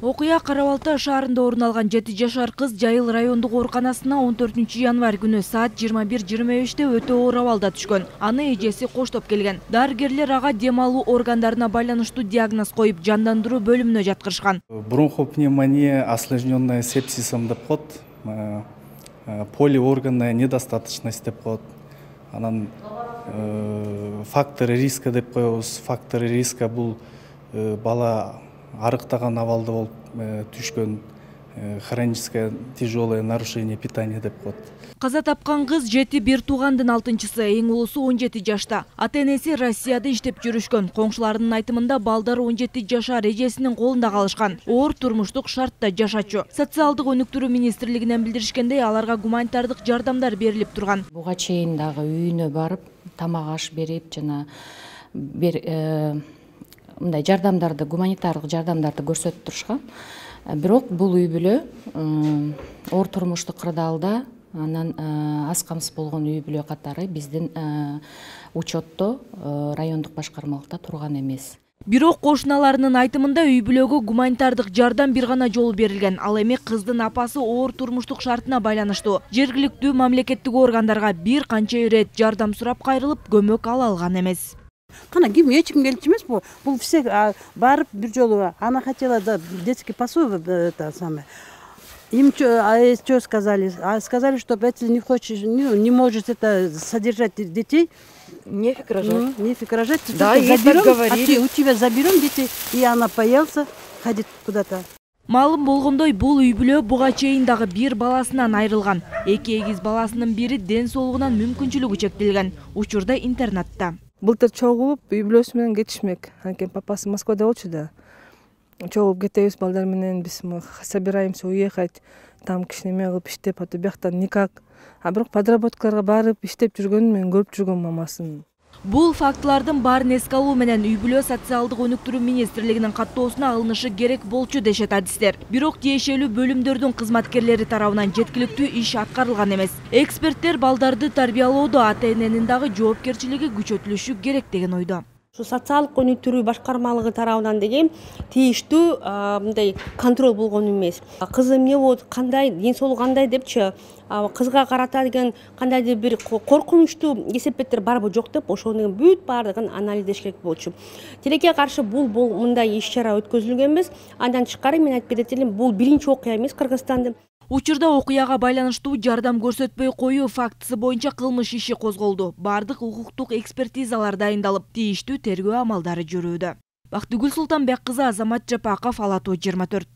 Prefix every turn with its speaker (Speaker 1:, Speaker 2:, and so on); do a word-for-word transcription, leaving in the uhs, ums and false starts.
Speaker 1: Окуя Кара Балта шаарында орун алган жети жашар кыз Жайыл райондук ооруканасына он төртүнчү январь күнү саат жыйырма бир жыйырма беште өтө оор абалда түшкөн. Аны эжеси коштоп келген. Дарыгерлер ага дем алуу органдарына байланыштуу диагноз коюп, жандандыруу бөлүмүнө жаткырышкан.
Speaker 2: Бронхопневмония, осложненная сепсисом деп коет, полиорганная недостаточность деп коет. Анан факторы риска деп коебуз. Факторы риска бул бала арыктаган абалда болуп түшкөн, хроническое тяжелое нарушение питания деп коет.
Speaker 1: Каза тапкан кыз жети бир туугандын алтынчысы, эң улусу он жети жашта. Ата-энеси Россияда иштеп жүрүшкөн. Коңшуларынын айтымында балдары он жети жашар эжесинин колунда калышкан. Оор турмуштук шартта жашачу. Социалдык өнүктүрүү министрлигинен билдиришкендей, аларга гуманитардык жардамдар берилип турган.
Speaker 3: Буга чейин дагы үйүнө барып, тамак аш берип, жана бир мындай жардамдарды, гуманитардык жардамдарды көрсөтүп турушкан. Бирок бул үй бүлө оор турмуштук кырдаалда, анан аз камсыз болгон үй бүлө катары биздин учетто райондук башкармалыкта турган эмес.
Speaker 1: Бирок кошуналарынын айтымында үй бүлөгө гуманитардык жардам бир гана жолу берилген. Ал эми кыздын апасы оор турмуштук шартына байланыштуу жергиликтүү мамлекеттик органдарга бир канча ирет жардам сурап кайрылып, көмөк ала алган эмес.
Speaker 4: Кана ким эч ким келчү эмес бул. Бул все барып бир жолу она хотела да детский пособие это самое. Им что сказали? Сказали, что если не хочешь, не можешь это содержать детей,
Speaker 5: нефиг рожать.
Speaker 4: Нефиг рожать.
Speaker 5: Да, ей так говорили.
Speaker 4: У тебя заберем детей, и она боялся ходить куда-то.
Speaker 1: Маалым болгондой, бул үй бүлө буга чейин дагы бир баласынан айрылган. Эки эгиз баласынын бири ден соолугунан мүмкүнчүлүгү чектелген. Учурда интернатта.
Speaker 6: Былтыр чогулуп үй бүлөсү менен кетишмек. Анткени папасы Москвада болчу да. Чогулуп кетебиз балдар менен, биз собираемся уехать, там кичинеме кылып иштеп, ата бияктан никак. А бирок подработкаларга барып иштеп жүргөнүн мен көрүп жүргөм мамасын.
Speaker 1: Бул фактылардын баарын эске алуу менен үй бүлө социалдык өнүктүрүү министрлигинин каттоосуна алынышы керек болчу дешет адистер. Бирок тиешелүү бөлүмдөрдүн кызматкерлери тарабынан жеткиликтүү иш аткарылган эмес. Эксперттер балдарды тарбиялоодо ата-эненин дагы жоопкерчилиги күчөтүлүшү керек деген ойдо.
Speaker 7: Социалдык өнүктүрүү башкармалыгы тарабынан деген тийиштүү мындай контроль болгон эмес. Кыз эмне болот, кандай, ден соолугу кандай депчи, кызга карата деген кандайдыр бир коркунучтуу кесепеттер барбы жок деп, ошонун бүт баардыгын анализдеш керек болчу. Тилекке каршы бул бул мындай иш-чара өткөзүлгөн эмес. Андан тышкары мен айтып кетет элем, бул биринчи окуя эмес Кыргызстанда.
Speaker 1: Учурда окуяга байланыштуу жардам көрсөтпөй коюу фактысы боюнча кылмыш иши козголду. Бардык укуктук экспертизалар дайындалып, тийиштүү тергөө амалдары жүрүүдө. Бактыгүл Султанбек кызы, Азамат Жапаков, Ала Тоо жыйырма төрт.